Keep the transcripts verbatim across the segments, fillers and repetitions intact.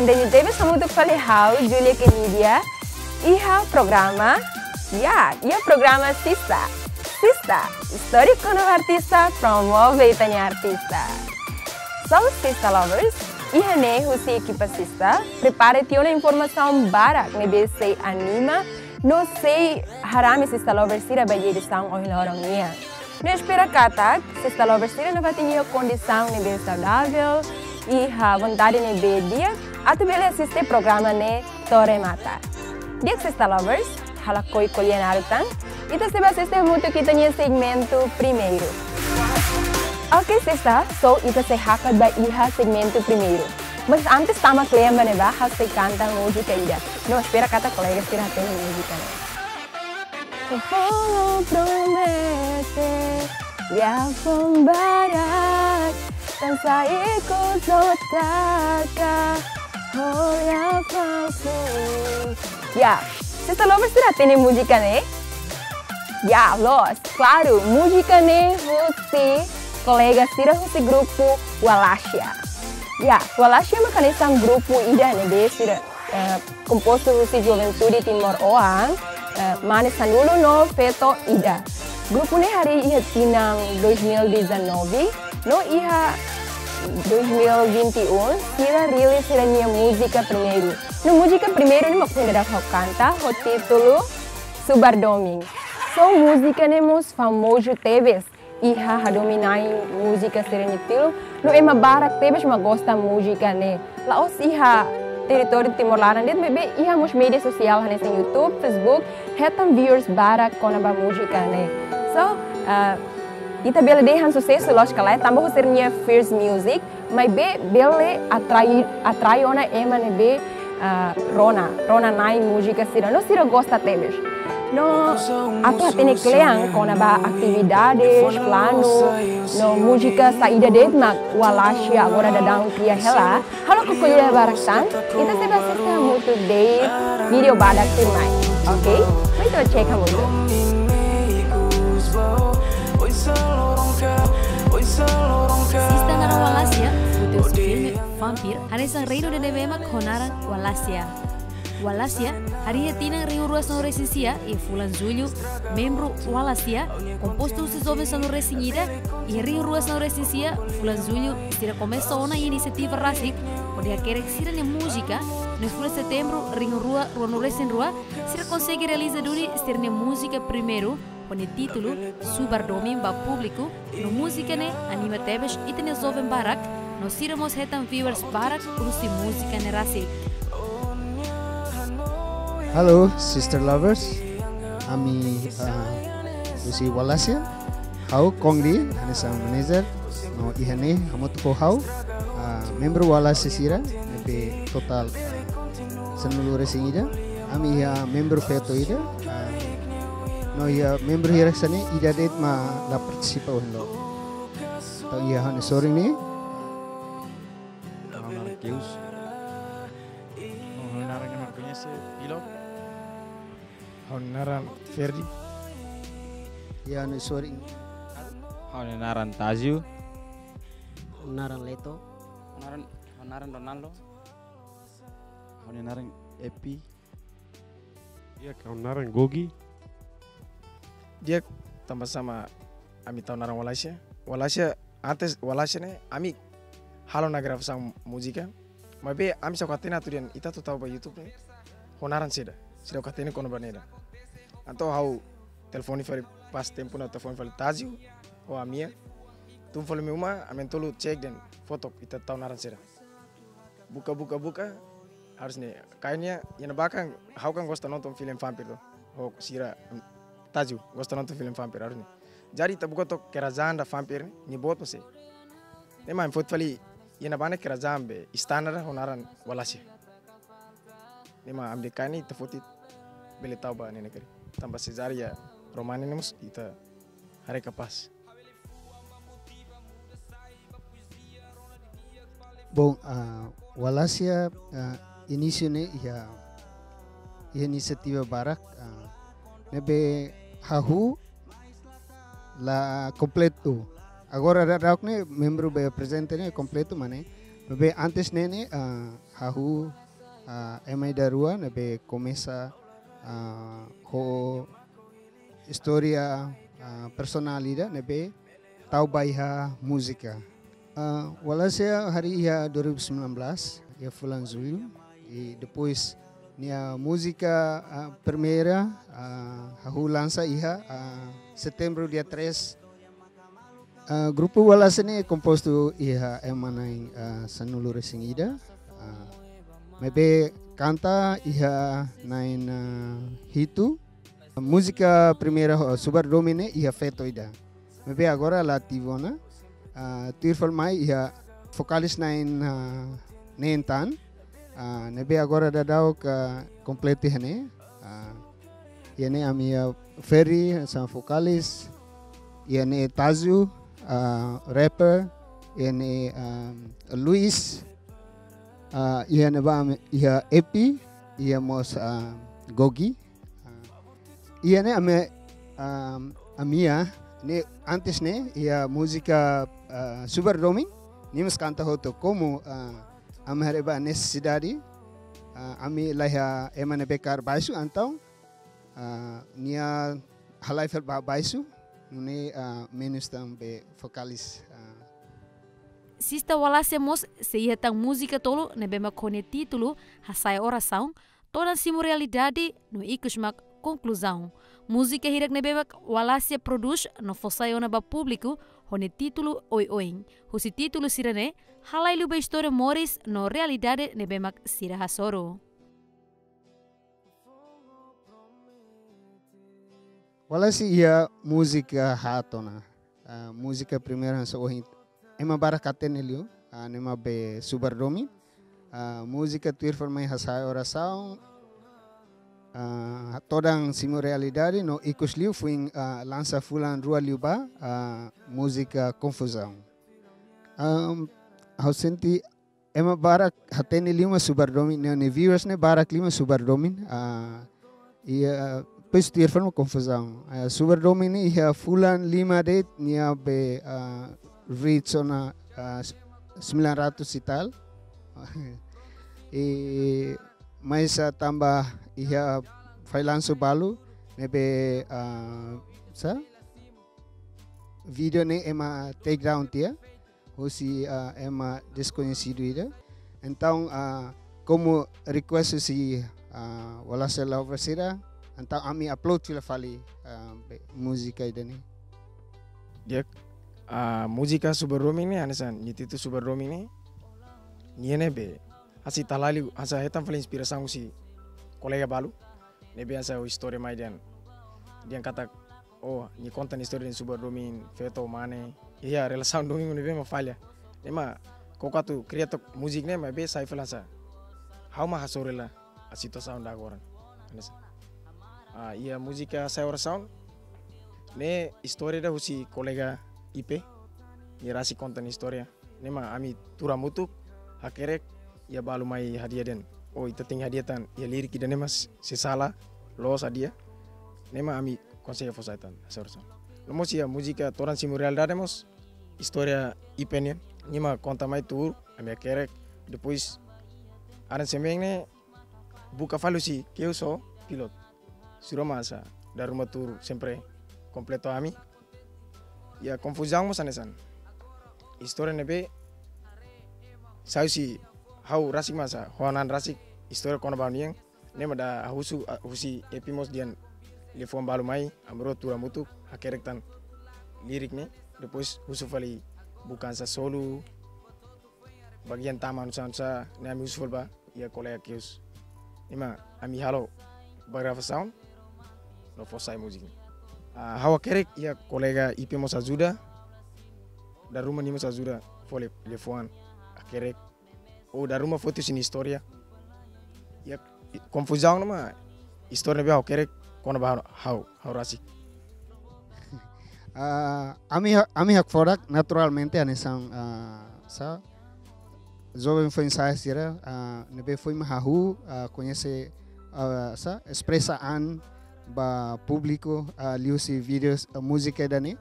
Entaun, tebes hamutuk fali ha'u, Julia Kenidia, iha programa, ya, iha programa Sista. Sista, istória kona-ba artista, promove ita-nia artista. So, Sista Lovers, iha ne'e husi ekipa Sista, prepara tiha ona informasaun barak ne'ebé sei anima, no sei harame Sista Lovers sira ba iha edisaun ohin loron nian. No espera katak, Sista Lovers sira nafatin iha kondisaun ne'ebé saudavel, iha vontade ne'ebé di'ak, atu bele asiste programa ne'e to'o remata. Di'ak Sista Lovers, halo ko'alia naruk tan, ita sei ba asiste hamutuk ita-nia segmentu primeiru. Oke, Sista, so ita sei hakat ba iha segmentu primeiru. Mas antes tama kle'an ba ne'ebá, ha'u sei kanta múzika ida. No espera katak kolega sira hatene múzika ne'e. Fó-lo promete, liafuan barak, tan sai ikus no taka, olha falsu. Ya, Sista Lovers sira hatene múzika ne'e? Ya, loos, klaru, múzika ne'e husi kolega sira husi grupu Wallachia. Ya, Wallachia mak hanesan grupu ida ne'ebé sira, eh, kompostu husi juventude timoroan, eh, mane sanulu no feto ida. Grupu ne'e harii iha tinan dois mil e dezanove, no iha dois mil e vinte e um, sira rilis sira-nia múzika primeiru. No múzika primeiru ne'e mak ohin daudaun ha'u kanta, ho títulu Subar Domin. So múzika ne'e mós famozu tebes iha hadomi na'in múzika sira-nia tilun, no ema barak tebes mak gosta múzika ne'e. La'ós iha territóriu Timor laran de'it, maibé iha mós média sosiál hanesan YouTube, Facebook, hetan viewers barak kona-ba múzika ne'e. So, ah, ita bele dehan susesu, lójika lae, tanba husi sira-nia first music, maibé bele atrai, atrai ona ema ne'ebé, ah, rona, rona na'in múzika sira, no sira gosta tebes. No atu hatene kle'an kona-ba atividades, planu, no múzika saida de'it mak Wallachia agora daudaun kria hela, halo ko'alia barak tan, ita sei ba asiste hamutuk de'it vídeo badak tuirmai. Oke? Mai ita check hamutuk. Sista naran Wallachia, foti husi filme Vampire, hanesan Reino de Nevema ho naran Wallachia. Wallachia, harii iha tinan rihun rua sanulu resin sia, iha fulan Jullu, membru Wallachia, kompostu husi joven sanulu resin ida, iha rihun rua sanulu resin sia, fulan Jullu, sira komesa ona iha inisiativa rasik, hodi hakerek sira-nia múzika, no iha fulan Setembru, rihun rua ruanulu resin rua, sira konsege realiza duni sira-nia múzika primeiru, ho nia títulu Subar Domin ba públiku, no múzika ne'e anima tebes ita-nia joven barak, no sira mós hetan viewers barak husi múzika ne'e rasik. Halo, Sista Lovers. Ami, ah, husi Wallachia. Ha'u Kongri, hanesan manager. No iha ne'e, hamutuk ho ha'u, ah, membru Wallachia sira, ne'ebé totál, ah, sanulu resin ida. Ami iha membru feto ida, ah, no iha membru hirak hanesan ne'e, ida de'it mak la partisipa ohin loron. Entaun iha ha'u-nia sorin ne'e. Ha'u naran Keus. Ha'u naran ema koñese, Pilo. Ha'u naran Ferdi. Iha ha'u-nia sorin. Ha'u naran Tazio. Ha'u naran Leto. Naran, ha'u naran Ronaldo. Ha'u-nia naran Epi. Di'ak, ha'u naran Gogi. Di'ak, tanba sá mak ami tau naran Wallachia. Wallachia, antes Wallachia ne'e, ami halo ona gravasaun múzika. Maibé ami seidauk hatene atu dehan ita atu tau ba YouTube ne'e ho naran saida. Seidauk hatene kona-ba ne'e ida. Entaun ha'u telefone fali, pas tempu ne'e telefone fali Tazio, ho Amia. Tun fali mai uma, ami na'in-tolu check dehan fó took ita tau naran saida. Buka, buka, buka, harus ne'e. Kayaknya, iha ne'ebá kan, ha'u kan gosta nonton filme Vampire to. Ho sira, em, Tazio, gosta nonton filme Vampire, harus ne'e. Jadi ita buka took Kerajaan da Vampire ne'e, nia boot mak sé. Ne'e mak ami foti fali, iha ne'ebá ne'e kerajaan be, istana ida ho naran Wallachia. Ne'e mak ami dehan karik ita foti bele tau ba ne'e ne'e karik. Tanba sejarah iha Roma ne'e mós ita haree kapás. Bom, ah, Wallachia, ah, inísiu ne'e iha, iha inisiativa barak, ah, ne'ebé hahú la kompletu. Agora daudaun ne'e membru be prezente ne'e kompletu, maibé Be antes ne'e ne'e, ah, hahú, ah, ema ida rua ne'ebé komesa, ah, ho istória, ah, personál ida ne'ebé tau ba iha múzika. Ah, Wallace harii iha dua ribu sembilan belas, iha fulan Jullu, i depois nia múzika, ah, primeira, ah, hahú lansa iha, ah, Setembru dia três. Ah, grupu Wallace ne'e kompostu iha ema na'in, ah, sanulu-resin-ida. Ah, maibé kanta iha na'in, ah, hitu. Múzika primeira, ah, Subar Domin ne'e iha feto ida. Maibé agora la ativu ona. Ah, tuir fali mai iha vokalis na'in, ah, neen tan. Ah, ne'ebé agora daudaun kompletu iha ne'e. Ah, iha ne'e ami iha Ferry, hanesan vokalis. Iha ne'e Tazu, ah, rapper. Iha ne'e, ah, Luis. Ah, iha ne'ebá ami iha Epi, iha mós, ah, Gogi. Ah, iha ne'e ami, ah, ami iha ne'e antes ne'e iha múzika, ah, Subar Domin, nia mós kanta hotu komu, ah, ami haree ba nesesidade, ah, ami la iha ema ne'ebé kaer baixu, entaun, ah, nia halai fali ba baixu, nune'e, ah, menus tan be vokalis, ah. Sista Wallace mós sei iha tan múzika tolu ne'ebé mak ho nia títulu Hasa'e Orasaun, Todan Simu Realidade no ikus mak Konkluzaun. Múzika hirak ne'ebé mak Wallace prodús no fó sai ona ba públiku ho nia títulu oioin. Husi títulu sira-ne'e, halai liu ba istória moris no realidade ne'ebé mak sira hasoru. Wallace iha múzika haat ona. Ah, múzika primeira hanesan ohin ema barak hatene liu, ah, ne'e mak be Subar Domin. Ah, múzika tuir fali mai Hasa'e Orasaun, ah, Todan Simu Realidade no ikus liu foin, ah, lansa fulan rua liubá, ah, múzika Konfuzaun. Am, ha'u sente ema barak hatene liu mak Subar Domin, nia, nia viewers ne'e barak liu mak Subar Domin. Ah, iha, depois tuir fali mak Konfuzaun. Ah, Subar Domin ne'e iha fulan lima de'it nia be, ah, reach ona, ah, sembilan ratus e tal. I mais, ah, tanba iha fallansu balu ne'ebé, ah, sá, vídeo ne'e ema take down tiha husi, ah, ema deskoñesidu ida. Entaun, ah, komu request husi, ah, Wallace lover sira, entaun ami upload fila fali, ah, be, múzika ida-ne'e. Di'ak, ah, múzika Subar Domin ne'e, hanesan nia títulu Subar Domin ne'e, nia ne'ebé hanesan ita halai liu, hanesan hetan fali inspirasaun husi kolega balu ne'ebé hanesan istória mai dehan, dehan katak, oh, nia konta nia istória dehan Subar Domin, feto, mane, iha relasaun domin ne'ebé mak falla. Ne'e mak koko atu kria took múzika ne'e, maibé sai fali hanesan ha'u mak hasoru hela situasaun ida agora. Hanesan, ah, iha múzika Hasa'e Orasaun ne'e istória ida husi kolega Ipe, nia rasik konta nia istória. Ne'e mak ami tuur hamutuk, hakerek, iha balu mai hadi'a dehan, oh, ita tenke hadi'a tan iha lirik ida-ne'e mak sei sala, loos hadi'a. Ne'e mak ami konsege fó sai tan Hasa'e Orasaun. No mós iha múzika Todan Simu Realidade mós istória Ipe nian. Nia mak konta mai tuur, ami hakerek. Depois aransemen ne'e buka fali husi Keus ho Pilot. Sira mak hanesan dala ruma tuur sempre kompletu ami. Iha Konfuzaun mós hanesan. Istória ne'ebé sai husi ha'u rasik mak hanesan, ho ha'u-nia an rasik, istória kona-ba ha'u-nian. Ne'e mak dala husu, ah, husi Epi mós dehan liafuan balu mai, ami rua tuur hamutuk, hakerek tan lirik ne'e. Depois husu fali buka hanesan solo, bagian tama nu'usá-nu'usá, ne'e ami husu fali ba iha kolega Keus. Ne'e mak ami halo ba gravasaun no fó sai múzika. Ah, ha'u hakerek, iha kolega Ipe mós ajuda. Dala ruma nia mós ajuda fó lia-, liafuan, hakerek. Ou dala ruma foti husi nia istória. Iha Konfuzaun ne'e mak istória ne'ebé ha'u hakerek kona-ba ha'u, ha'u rasik. Ah, ami ha-, ami hakfodak naturalmente hanesan, ah, sá, joven foin-sa'e sira, ah, ne'ebé foin mak hahú, ah, koñese, ah, sá, espresa an ba públiku, ah, liuhusi vídeos, ah, múzika ida-ne'e.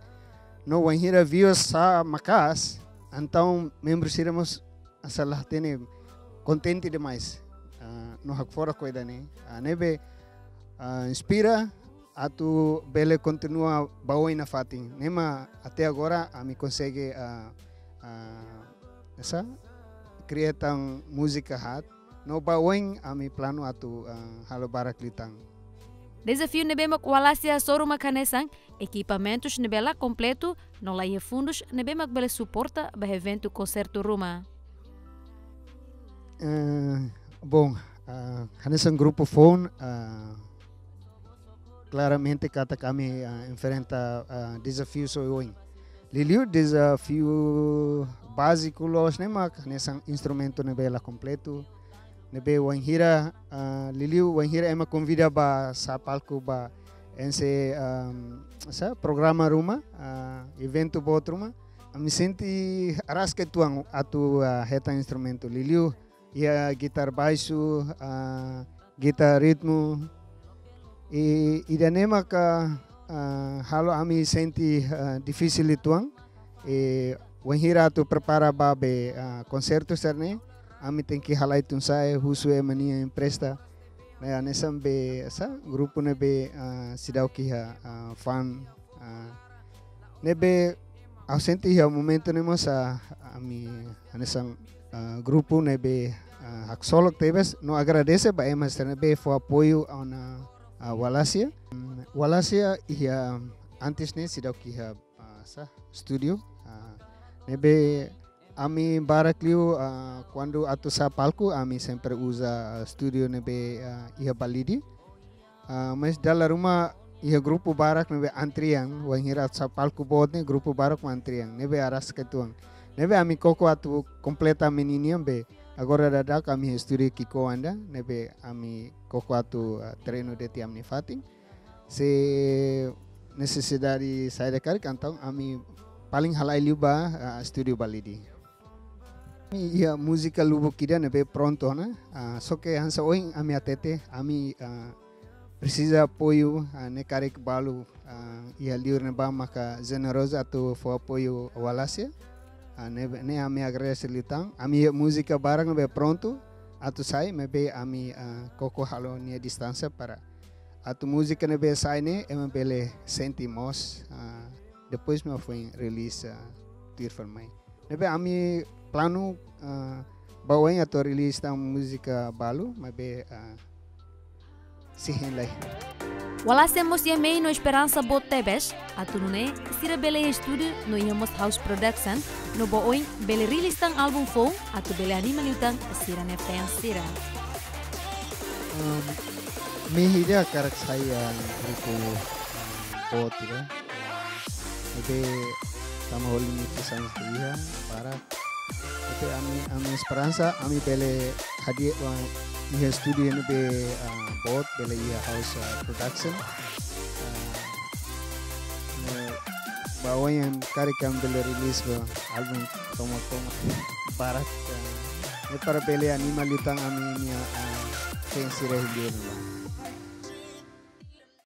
No wainhira views sa'e maka'as, entaun membru sira mós asa la hatene, kontente demais. Ah, no hakfodak ho ida-ne'e. Ah, ne'ebé, ah, inspira atu bele kontinua ba oin nafatin. Ne'e mak até agora ami konsege, ah, ah, esa, kria tan múzika haat. No ba oin ami planu atu, ah, halo barak liután. Dezafiu ne'ebé mak Wallacia hasoru mak hanesan ekipamentus ne'ebé la kompletu, no la iha fundus ne'ebé mak bele suporta ba eventu konsertu ruma. Eh, bom, ah, hanesan grupu foun, ah, klaramente katak ami, ah, enfrenta, ah, dezafiu oioin. Liuliu dezafiu báziku loos ne'e mak hanesan instrumentu ne'ebé la kompletu, ne'ebé wainhira, ah, liuliu wainhira ema konvida ba sa'e palku ba ense, ah, sa programa ruma, ah, eventu boot ruma, ami sente araska uitoan atu, ah, hetan instrumentu. Liuliu iha gitar baixu, ah, gitar ritmu. I, ida-ne'e maka, ah, halo ami sente, ah, difisil uitoan. I wainhira atu prepara ba be, ah, konsertu sira-ne'e, ami tenke halai tun-sa'e, husu ema nia empresta. Ne'e hanesan be, sa, grupu ne'ebé, ah, seidauk iha, ah, fun, ah, ne'ebé ha'u sente iha momentu ne'e mós, ah, ami hanesan, ah, grupu ne'ebé, ah, haksolok tebes, no agradese ba ema sira ne'ebé fó apoiu ona, ah, Wallacia. Mm, Wallacia iha antes ne'e seidauk iha, ah, sa, studio. Ah, ne'ebé ami barak liu, ah, kuandu atu sa'e palku, ami sempre uza, ah, studio ne'ebé, ah, iha Balide. Ah, mas dala ruma iha grupu barak ne'ebé antrian, wainhira atu sa'e palku boot ne'e grupu barak mak antrian, ne'ebé araska uitoan. Ne'ebé ami koko atu kompleta ami ninian be, agora daudauk ami iha studio ki'ikoan ida, ne'ebé ami koko atu, ah, treinu de'it iha ami-nia fatin. Se nesesidade saida karik, entaun ami paling halai liu ba, ah, studio Balide. Ami iha múzika lubuk ida ne'ebé prontu ona, ah, só ke hanesan ohin ami hatete, ami, ah, presiza apoiu, ah, ne'e karik balu, ah, iha liur ne'ebá maka jenerozu atu fó apoiu Wallacia. Ah, ne'e, ne'e ami agradese liután. Ami iha múzika barak ne'ebé prontu atu sai, maibé ami, ah, koko halo nia distánsia para atu múzika ne'ebé sai ne'e ema bele sente mós, ah, depois mak foin release, ah, tuir fali mai. Ne'ebé ami planu, ah, ba oin atu release tan múzika balu, maibé, ah, sei hein lai. Wallacia mós iha mehi no esperansa boot tebes, atu nune'e sira bele iha studio no iha mós house production, no ba oin bele release tan álbum foun, atu bele anima liután sira-nia fans sira. Um, mehi ida hakarak sai, ah, grupu, ah, boot ida. Ne'ebé tanba ho limitasaun ne'ebé iha, para. Ne'ebé ami, ami esperansa, ami bele hadi'a, ah, iha studio ne'ebé, ah, boot, bele iha house, ah, production. Ah, no ba oin karik ami bele release ba álbum tomak-tomak barak, ah, ne'e para bele anima liután ami-nia, ah, fans sira iha liur ne'ebá.